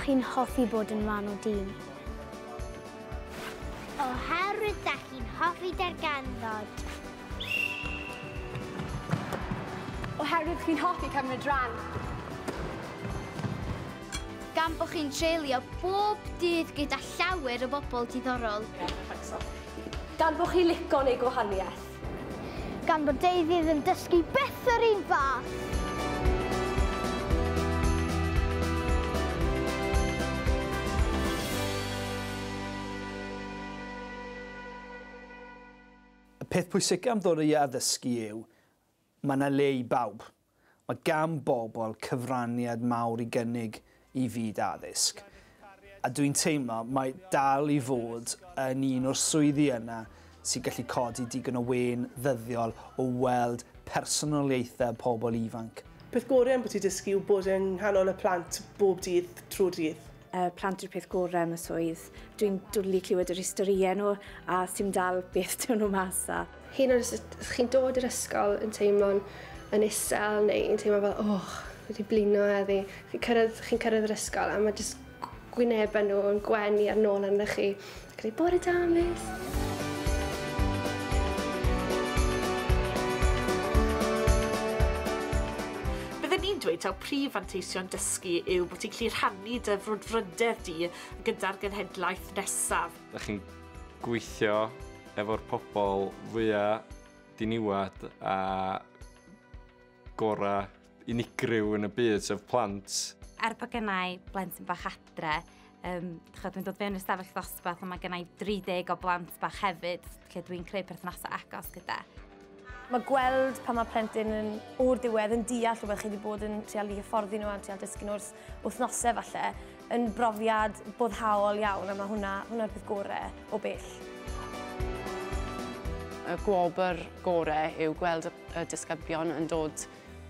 chi'n hoffi bod yn rhan o dîm. Oherwydd da chi'n hoffi darganfod. Oherwydd chi'n hoffi cymryd rhan. Gan bod chi'n treulio bob dydd gyda llawer o bobl diddorol. Gan bod chi'n licio neu gwahaniaeth. Gan bod deuddydd yn dysgu byth yr un fath. Y peth pwysicaf am ddod i addysgu yw, mae yna le i bawb. Mae gan bobl cyfraniad mawr i gynnig i fyd addysg. A dwi'n teimlo mae dal i fod yn un o'r swyddi yna sy'n gallu codi digon o wên ddyddiol o weld personoliaethau pobl ifanc. Peth gorau am bod ti'n dysgu yw bod yng nghanol y plant bob dydd trwy'r dydd. Plant yw'r peth gorau am y swydd. Dwi'n dwlu clywed yr historiau nhw a sy'n dal beth dyn nhw mas a. Hyn oed os chi'n dod i'r ysgol yn teimlo'n yn isel neu yn teimlo fel, oh, wedi blino heddi. Chi'n cyrraedd yr ysgol a mae jyst gwynebau nhw yn gwenu ar nôl arnoch chi. Ac yn dweud, bore da, miss. Dweud taw prif fanteision dysgu yw bod ti'n gallu rhannu dy frwdfrydedd di gyda'r genhedlaeth nesaf. Da chi'n gweithio efo'r pobl fwyaf diniwad a gorau unigryw yn y byd, sef plant. Er bod gennai blentyn bach adre, dwi'n dod fewn i'r stafell ddosbarth a mae gennai 30 o blant bach hefyd, lle dwi'n creu perthnasau agos gyda. Mae gweld pan mae plentyn yn o'r diwedd yn deall rhywbeth chi wedi bod yn trial i hyfforddi nhw a trial dysgu nhw wrth wythnosau falle, yn brofiad boddhaol iawn a mae hwnna'r peth gorau o bell. Y gwobr gorau yw gweld y disgyblion yn dod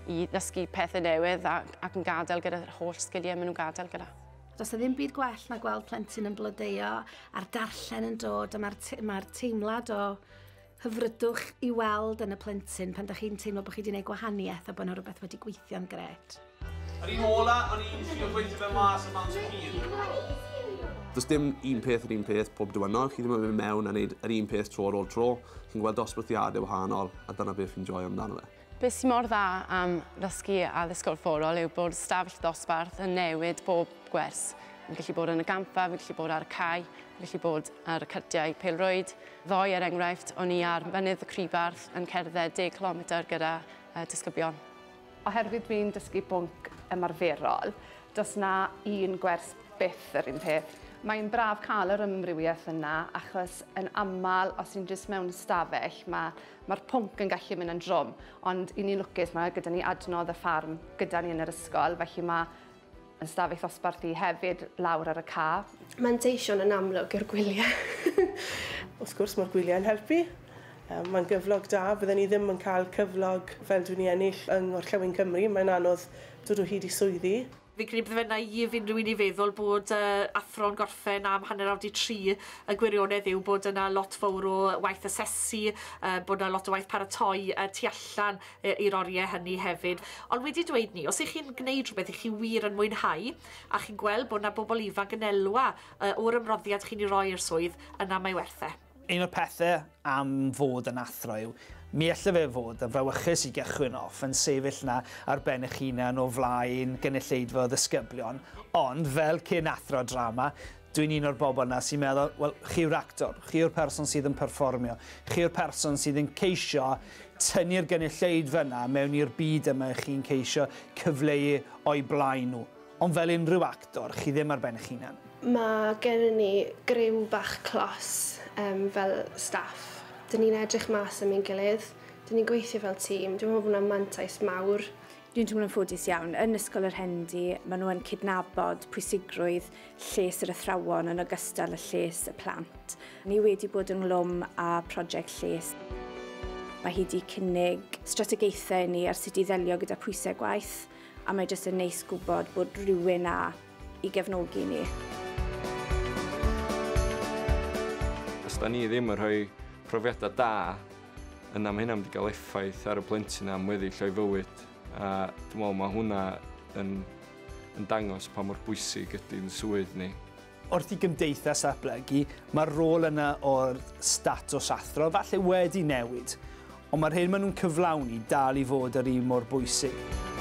i ddysgu pethau newydd ac yn gadael gyda'r holl sgiliau maen nhw'n gadael gyda. Does 'na ddim byd gwell na gweld plentyn yn blodeuo a'r darllen yn dod a mae'r teimlad o hyfrydwch i weld yn y plentyn pan ydych chi'n teimlo bod chi wedi gwneud gwahaniaeth a bod yna rhywbeth wedi gweithio'n grêt. Yr un ola, o'n i'n trio gweithio fe mas am amser hir. Does dim un peth yr un peth pob diwrnod. Chi ddim yn mynd mewn a wneud yr un peth tro ar ôl tro. Chi'n gweld dosbarthiadau wahanol a dyna beth fi'n joio amdano fe. Beth sy'n mor dda am ddysgu addysg gorfforol yw bod stafell ddosbarth yn newid bob gwers. Yn gallu bod yn y gampfa, yn gallu bod ar y cae, yn gallu bod ar y cyrtiau pêl-rwyd. Ddoe, er enghraifft, o'n i ar mynydd y Cribarth yn cerdded 10 km gyda disgyblion. Oherwydd dwi'n dysgu bwnc ymarferol, does na un gwers byth yr un peth. Mae'n braf cael yr amrywiaeth yna, achos yn aml, os ti'n jyst mewn stafell, mae'r pwnc yn gallu mynd yn drwm. Ond i ni'n lwcus, mae gyda ni adnodd y ffarm gyda ni yn yr ysgol, felly mae yn stafell ddosbarth i hefyd lawr ar y ca. Manteision yn amlwg yw'r gwyliau. Wrth gwrs mae'r gwyliau yn helpu. Mae'n gyflog da, fydden ni ddim yn cael cyflog fel dwi'n ei ennill yng Ngorllewin Cymru. Mae'n anodd dod o hyd i swyddi. Fi'n credu bydde fe'n naïf unrhyw un i feddwl bod athro'n gorffen am 2:30. Y gwirionedd yw bod yna lot fawr o waith asesu, bod yna lot o waith paratoi tu allan i'r oriau hynny hefyd. Ond wedi dweud ni, os ych chi'n gwneud rhywbeth ych chi wir yn mwynhau a chi'n gweld bod yna bobl ifanc yn elwa o'r ymroddiad chi'n ei roi i'r swydd, yna mae werth e. Un o'r pethau am fod yn athro yw, mi allai fe fod yn frawychus i gychwyn off yn sefyll na ar ben eich hunan o flaen gynulleidfa o ddisgyblion, ond fel cyn athro drama, dwi'n un o'r bobl yna sy'n meddwl, wel, chi yw'r actor, chi yw'r person sydd yn perfformio, chi yw'r person sydd yn ceisio tynnu'r gynulleidfa yna mewn i'r byd yma chi'n ceisio cyfleu o'i blaen nhw. Ond fel unrhyw actor, chi ddim ar ben eich hunan. Mae gennym ni griw bach clos fel staff. Dyn ni'n edrych mas am ein gilydd, dyn ni'n gweithio fel tîm. Dwi'n meddwl bod hwnna'n mantais mawr. Dwi'n teimlo'n ffodus iawn. Yn Ysgol yr Hendy, maen nhw yn cydnabod pwysigrwydd lles yr athrawon yn ogystal â lles y plant. Ni wedi bod ynghlwm â prosiect lles. Mae hi wedi cynnig strategaethau ni ar sut i ddelio gyda pwysau gwaith, a mae jyst yn neis gwybod bod rhywun na i gefnogi ni. Os da ni ddim yn rhoi profiadau da, yna mae hynna'n mynd i gael effaith ar y plentyn am weddill o'i fywyd. A dwi'n meddwl mae hwnna yn yn dangos pa mor bwysig ydy'n swydd ni. Wrth i gymdeithas ddatblygu, mae'r rôl yna o'r statws athro falle wedi newid, ond mae'r hyn maen nhw'n cyflawni dal i fod yr un mor bwysig.